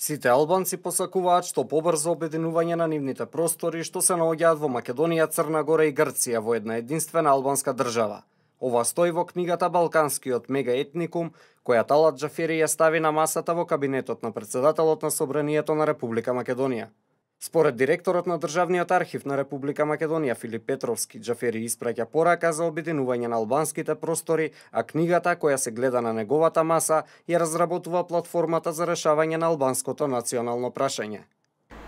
Сите албанци посакуваат што побрзо обединување на нивните простори што се наоѓаат во Македонија, Црна Гора и Грција во една единствена албанска држава. Ова стои во книгата Балканскиот мегаетникум, која Талат Џафери ја стави на масата во кабинетот на председателот на Собранието на Република Македонија. Според директорот на Државниот архив на Република Македонија Филип Петровски, Џафери испраќа порака за обединување на албанските простори, а книгата која се гледа на неговата маса ја разработува платформата за решавање на албанското национално прашање.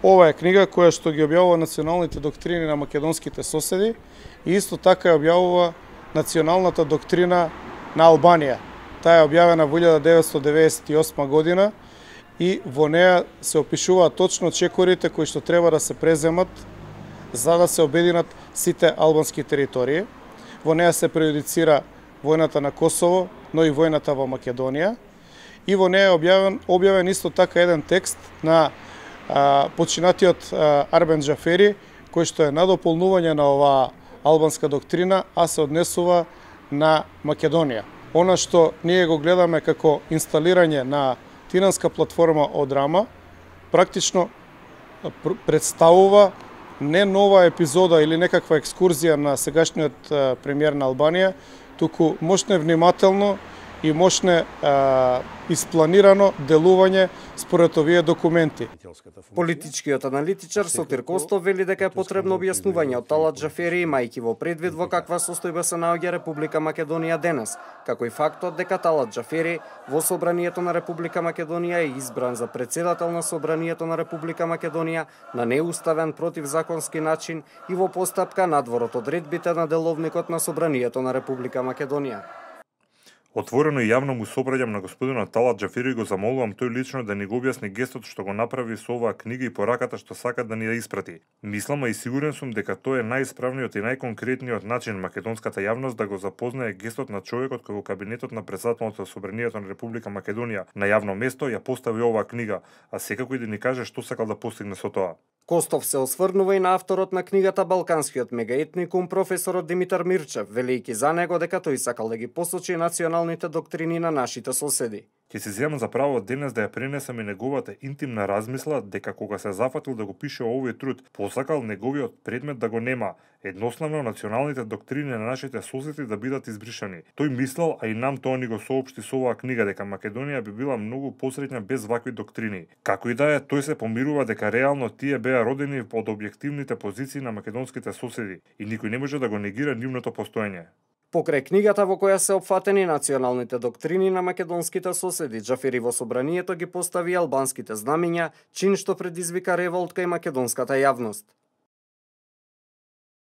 Ова е книга која што ги објавува националните доктрини на македонските соседи и исто така ја објавува националната доктрина на Албанија. Таа е објавена во 1998 година и во неа се опишуваат точно чекорите кои што треба да се преземат за да се обединат сите албански територии. Во неа се преюдицира војната на Косово, но и војната во Македонија. И во неа е објавен исто така еден текст на починатиот Арбен Џафери, кој што е надополнување на оваа албанска доктрина, а се однесува на Македонија. Она што ние го гледаме како инсталирање на тиранска платформа од Рама, практично представува не нова епизода или некаква екскурзија на сегашниот премиер на Албанија, туку мощне внимателно и мощне испланирано делување според овие документи. Политичкиот аналитичар Сотир Костов вели дека е потребно објаснување од Талат Џафери, имајќи во предвид во каква состојба се наоѓа Република Македонија денес, како и фактот дека Талат Џафери во Собранието на Република Македонија е избран за председател на Собранието на Република Македонија на неуставен противзаконски начин и во постапка надвор од одредбите на деловникот на Собранието на Република Македонија. Отворено и јавно му се обраќам на господинот Талат Џафери и го замолувам тој лично да ни го објасни гестот што го направи со оваа книга и пораката што сака да ни ја испрати. Мислам, а и сигурен сум дека тој е најисправниот и најконкретниот начин македонската јавност да го запознае гестот на човекот кој во кабинетот на председателот на Собранието на Република Македонија на јавно место ја постави оваа книга, а секако и да ни каже што сакал да постигне со тоа. Костов се осврнува и на авторот на книгата Балканскиот мегаетникум, професорот Димитар Мирчев, велејќи за него дека тој сакал да ги посочи националните доктрини на нашите соседи. Ќе се земам за право денес да ја пренесам и неговата интимна размисла дека кога се зафатил да го пише овој труд, посакал неговиот предмет да го нема, едноставно националните доктрини на нашите соседи да бидат избришани. Тој мислел, а и нам тоа ни го соопшти со оваа книга, дека Македонија би била многу посреќна без вакви доктрини. Како и да е, тој се помирува дека реално тие беа родени од објективните позиции на македонските соседи и никој не може да го негира нивното постоење. Покрај книгата во која се опфатени националните доктрини на македонските соседи, Џафери во Собранието ги постави албанските знамиња, чин што предизвика револт кај македонската јавност.